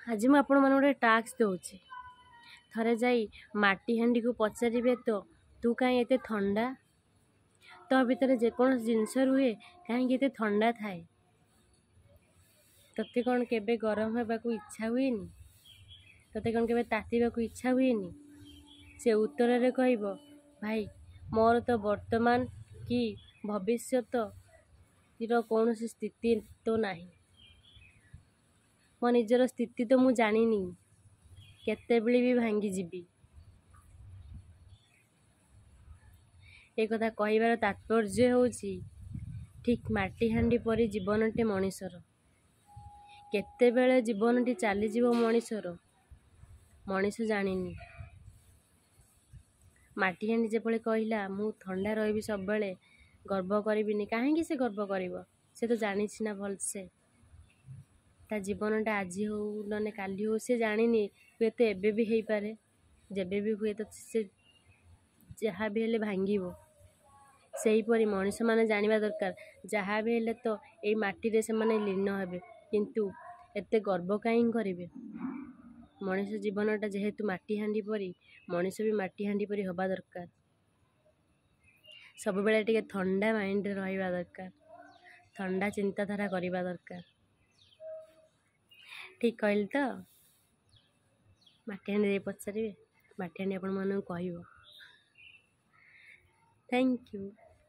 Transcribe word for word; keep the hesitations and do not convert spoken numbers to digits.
ଆଜି ମୁଁ ଆପଣମାନଙ୍କୁ ଗୋଟେ ଟାସ୍କ ଦେଉଛି। ଥରେ ଯାଇ ମାଟି ହାଣ୍ଡିକୁ ପଚାରିବେ ତ, ତୁ କାହିଁ ଏତେ ଥଣ୍ଡା? ତୋ ଭିତରେ ଯେକୌଣସି ଜିନିଷ ରୁହେ, କାହିଁକି ଏତେ ଥଣ୍ଡା ଥାଏ? ତୋତେ କ'ଣ କେବେ ଗରମ ହେବାକୁ ଇଚ୍ଛା ହୁଏନି? ତୋତେ କ'ଣ କେବେ ତାତିବାକୁ ଇଚ୍ଛା ହୁଏନି? ସେ ଉତ୍ତରରେ କହିବ, ଭାଇ, ମୋର ତ ବର୍ତ୍ତମାନ କି ଭବିଷ୍ୟତର କୌଣସି ସ୍ଥିତି ତ ନାହିଁ। ମୋ ନିଜର ସ୍ଥିତି ତ ମୁଁ ଜାଣିନି, କେତେବେଳେ ବି ଭାଙ୍ଗିଯିବି। ଏ କଥା କହିବାର ତାତ୍ପର୍ଯ୍ୟ ହେଉଛି, ଠିକ୍ ମାଟି ହାଣ୍ଡି ପରି ଜୀବନଟି ମଣିଷର। କେତେବେଳେ ଜୀବନଟି ଚାଲିଯିବ ମଣିଷର, ମଣିଷ ଜାଣିନି। ମାଟି ହାଣ୍ଡି ଯେପରି କହିଲା, ମୁଁ ଥଣ୍ଡା ରହିବି ସବୁବେଳେ, ଗର୍ବ କରିବିନି। କାହିଁକି ସେ ଗର୍ବ କରିବ? ସେ ତ ଜାଣିଛି ନା ଭଲସେ, ତା ଜୀବନଟା ଆଜି ହଉ ନହେଲେ କାଲି ହଉ, ସେ ଜାଣିନି, ହୁଏତ ଏବେ ବି ହେଇପାରେ। ଯେବେ ବି ହୁଏତ ସେ ଯାହା ବି ହେଲେ ଭାଙ୍ଗିବ। ସେହିପରି ମଣିଷମାନେ ଜାଣିବା ଦରକାର, ଯାହା ବି ହେଲେ ତ ଏଇ ମାଟିରେ ସେମାନେ ଲୀନ ହେବେ, କିନ୍ତୁ ଏତେ ଗର୍ବ କାହିଁ କରିବେ? ମଣିଷ ଜୀବନଟା ଯେହେତୁ ମାଟି ହାଣ୍ଡି ପରି, ମଣିଷ ବି ମାଟି ହାଣ୍ଡି ପରି ହେବା ଦରକାର। ସବୁବେଳେ ଟିକେ ଥଣ୍ଡା ମାଇଣ୍ଡରେ ରହିବା ଦରକାର, ଥଣ୍ଡା ଚିନ୍ତାଧାରା କରିବା ଦରକାର। ଠିକ୍ କହିଲି ତ? ମାଟି ହାଣ୍ଡି ଯାଇ ପଚାରିବେ, ମାଟି ହାଣ୍ଡି ଆପଣମାନଙ୍କୁ କହିବ। Thank you.